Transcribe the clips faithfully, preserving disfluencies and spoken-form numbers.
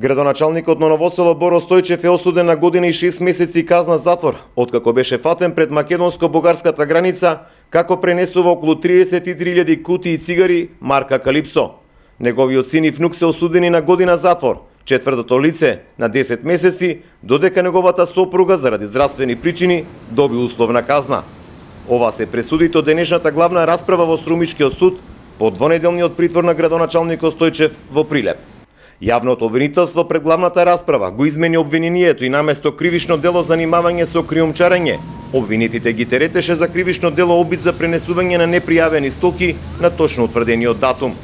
Градоначалникот на Ново село Боро Стојчев е осуден на година и шест месеци казна затвор, откако беше фатен пред македонско-бугарската граница, како пренесува околу триесет и три илјади кутии цигари марка Калипсо. Неговиот син и внук се осудени на година затвор, четвртото лице на десет месеци, додека неговата сопруга заради здравствени причини доби условна казна. Ова се пресудите од денешната главна расправа во Струмичкиот суд по двонеделниот притвор на градоначалникот Стојчев во Прилеп. Јавното обвинителство пред главната расправа го измени обвинението и наместо кривично дело занимавање со криумчарење, обвинетите ги теретеше за кривично дело обид за пренесување на непријавени стоки на точно утврдениот датум.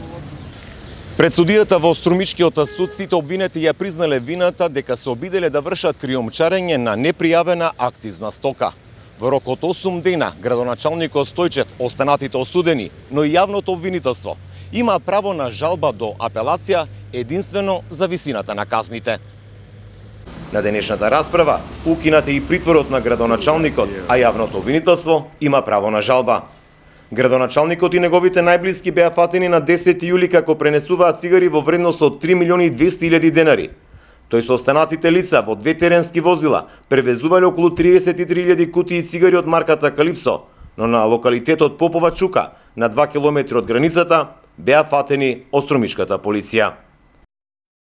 Пред судијата во Струмичкиот суд сите обвинети ја признале вината дека се обиделе да вршат криумчарење на непријавена акцизна стока. Во рок од осум дена градоначалникот Стојчев, останатите осудени, но и јавното обвинителство имаат право на жалба до апелација единствено за висината на казните. На денешната расправа укинат е и притворот на градоначалникот, а јавното обвинителство има право на жалба. Градоначалникот и неговите најблиски беа фатени на десети јули како пренесуваат цигари во вредност од три милиони и двесте илјади денари. Тој со останатите лица во две теренски возила превезувале околу триесет и три илјади кутии цигари од марката Калипсо, но на локалитетот Попова Чука, на два километри од границата, беа фатени од струмичката полиција.